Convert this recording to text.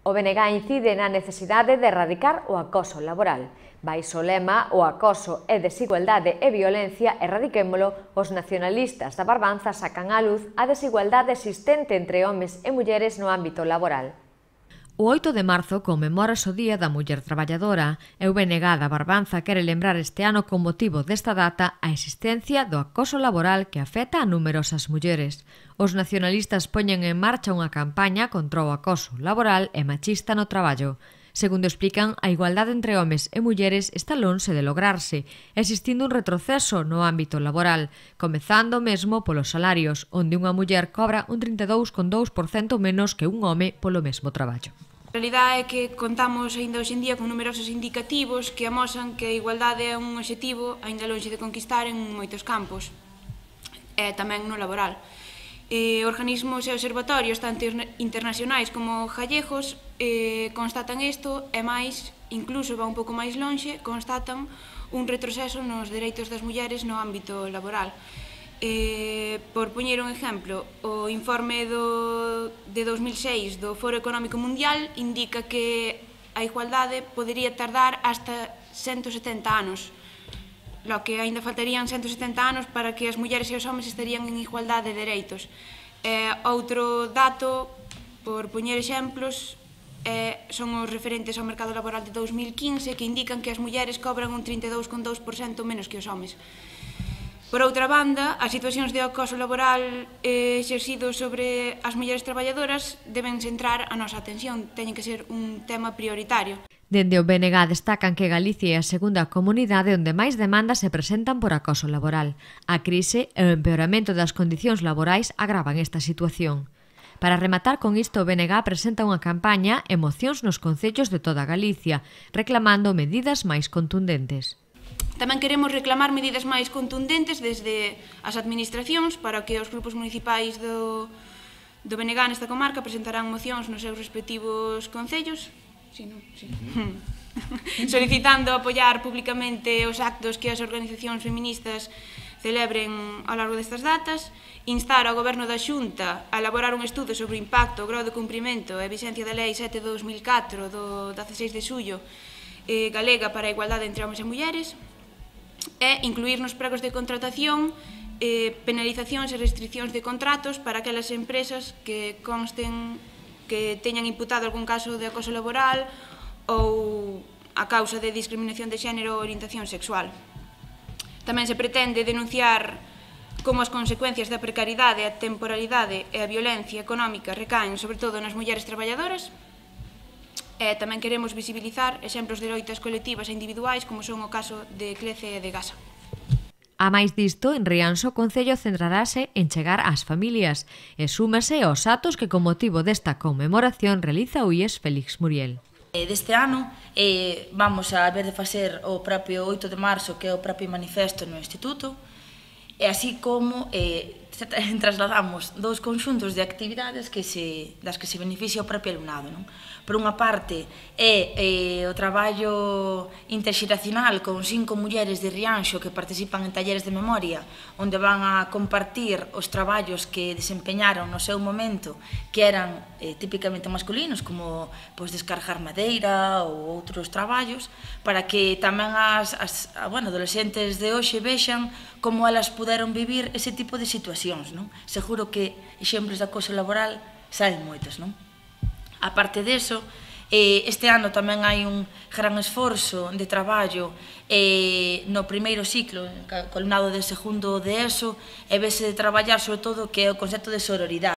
O BNG incide na necesidade de erradicar o acoso laboral. Baixo o lema "O acoso é desigualdade e violencia, erradiquémolo", os nacionalistas da Barbanza sacan á luz a desigualdade existente entre homes e mulleres no ámbito laboral. O 8 de marzo conmemórase o Día da Muller Traballadora e o BNG da Barbanza quere lembrar este ano con motivo desta data a existencia do acoso laboral que afecta a numerosas mulleres. Os nacionalistas poñen en marcha unha campaña contra o acoso laboral e machista no traballo. Segundo explican, a igualdade entre homes e mulleres está lonxe de lograrse, existindo un retroceso no ámbito laboral, comezando mesmo polos salarios, onde unha muller cobra un 32,2% menos que un home polo mesmo traballo. A realidade é que contamos aínda hoxe en día con numerosos indicativos que amosan que a igualdade é un obxectivo aínda lonxe de conquistar en moitos campos, e tamén no laboral. Organismos e observatorios, tanto internacionais como gallegos, constatan isto e máis, incluso va un pouco máis lonxe, constatan un retroceso nos dereitos das mulleres no ámbito laboral. Por poñer un exemplo, o informe de 2006 do Foro Económico Mundial indica que a igualdade podería tardar hasta 170 anos, lo que aínda faltarían 170 anos para que as mulleres e os homes estarían en igualdade de dereitos. Outro dato, por poñer exemplos, son os referentes ao mercado laboral de 2015 que indican que as mulleres cobran un 32,2% menos que os homes. Por outra banda, as situacións de acoso laboral exercido sobre as mulleres traballadoras deben centrar a nosa atención, teñen que ser un tema prioritario. Dende o BNG destacan que Galicia é a segunda comunidade onde máis demandas se presentan por acoso laboral. A crise e o empeoramento das condicións laborais agravan esta situación. Para rematar con isto, o BNG presenta unha campaña e mocións nos concellos de toda Galicia, reclamando medidas máis contundentes. Tamén queremos reclamar medidas máis contundentes desde as administracións para que os grupos municipais do BNG nesta comarca presentarán mocións nos seus respectivos concellos, solicitando apoiar públicamente os actos que as organizacións feministas celebren ao largo destas datas, instar ao Goberno da Xunta a elaborar un estudo sobre o impacto, o grau de cumprimento e a vigencia da Lei 7/2004 do 16 de xullo galega para a igualdade entre homes e mulleres, e incluir nos pregos de contratación penalizacións e restriccións de contratos para aquelas empresas que consten que teñan imputado algún caso de acoso laboral ou a causa de discriminación de xénero ou orientación sexual. Tamén se pretende denunciar como as consecuencias da precariedade, a temporalidade e a violencia económica recaen sobre todo nas mulleres traballadoras. E tamén queremos visibilizar exemplos de loitas colectivas e individuais como son o caso de Clece e de Gasa. A máis disto, en Rianxo, o Concello centrarase en chegar ás familias e súmase aos actos que con motivo desta conmemoración realiza o IES Félix Muriel. Deste ano vamos a ver de facer o propio 8 de marzo, que é o propio manifesto no Instituto, e así como trasladamos dous conxuntos de actividades das que se beneficia o propio alumnado. Por unha parte é o traballo interxeracional con 5 mulleres de Rianxo que participan en talleres de memoria, onde van a compartir os traballos que desempeñaron no seu momento, que eran típicamente masculinos, como descargar madeira ou outros traballos, para que tamén as adolescentes de hoxe vexan como elas puderon vivir ese tipo de situacións. Seguro que exemplos de acoso laboral saen moitos. Aparte deso, este ano tamén hai un gran esforzo de traballo no primeiro ciclo, co alumnado de segundo de ESO, e vese de traballar sobre todo que é o concepto de sororidade.